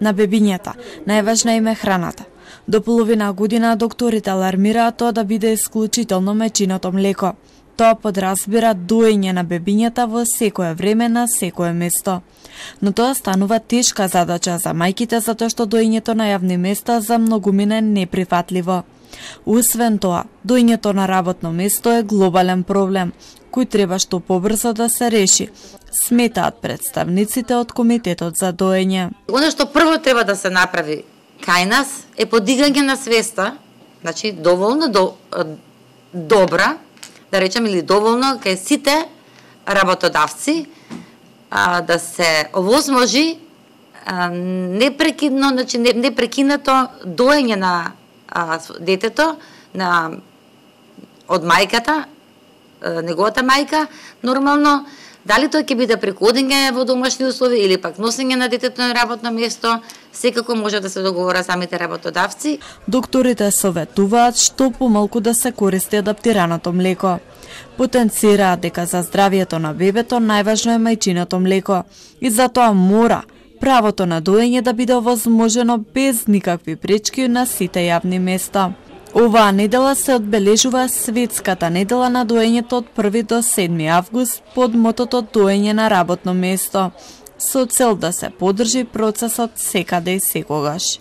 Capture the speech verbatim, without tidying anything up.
На бебињата најважна им е храната. До половина година докторите алармираат тоа да биде исклучително мечиното млеко. Тоа подразбира доење на бебињата во секое време на секое место. Но тоа станува тешка задача за мајките затоа што доењето на јавни места за многумина е неприфатливо. Освен тоа, доењето на работно место е глобален проблем, кој треба што побрзо да се реши, сметаат представниците од Комитетот за доење. Оно што прво треба да се направи кај нас е подигање на свеста, значи доволно до, добра, да речем, или доволно кај сите работодавци, а, да се овозможи а, непрекидно, значи непрекинато доење на а, детето на од мајката, а, неговата мајка, нормално, дали тоа ќе биде преку одење во домашни услови или пак носење на детето на работно место, секако може да се договора самите работодавци. Докторите советуваат што помалку да се користи адаптираното млеко. Потенцираат дека за здравието на бебето најважно е мајчиното млеко и затоа мора правото на доење да биде овозможено без никакви пречки на сите јавни места. Оваа недела се одбележува Светската недела на доењето од први до седми август под мотото доење на работно место, со цел да се поддржи процесот секаде и секогаш.